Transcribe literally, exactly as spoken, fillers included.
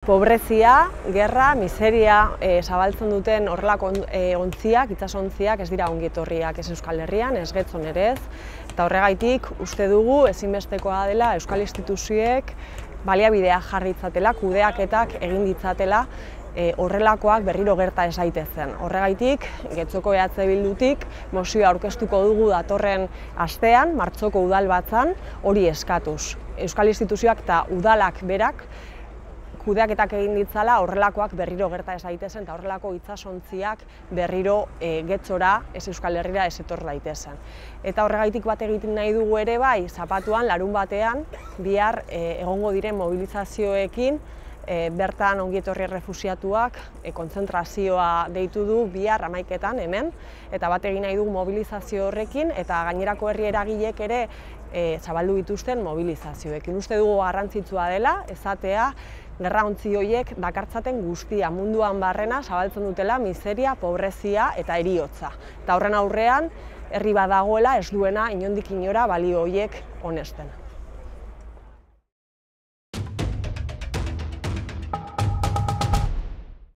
Pobrezia, gerra, miseria e, zabaltzen duten horrelako e, ontziak, itsasontziak ez dira ongi etorriak ez Euskal Herrian, ez Getxon ere ez. Eta horregaitik uste dugu ezinbestekoa dela Euskal instituzioek baliabideak jarri ditzatela, kudeaketak egin ditzatela e, horrelakoak berriro gerta ez daitezen. Horregaitik, Getxoko E H Bildutik mozioa aurkeztuko dugu datorren astean, martxoko udalbatzan, hori eskatuz. Euskal instituzioak eta udalak berak kudeaketak egin ditzala horrelakoak berriro gerta ez daitezen eta horrelako itsasontziak berriro e, Getxora, ez Euskal Herrira ez etor daitezen. Eta horregaitik bat egiten nahi dugu ere bai, zapatuan, larun batean, bihar e, egongo diren mobilizazioekin, e, bertan ongietorri errefuxiatuak e, kontzentrazioa deitu du bihar hamaiketan hemen, eta bat egin nahi dugu mobilizazio horrekin, eta gainerako herri eragilek ere e, zabaldu dituzten mobilizazioekin. Uste dugu garrantzitsua dela, esatea, gerra ontzi horiek dakartzaten guztia munduan barrena zabaltzen dutela miseria, pobrezia eta heriotza. Eta horren aurrean, herri badagoela ez duena inondik inora balio horiek onesten.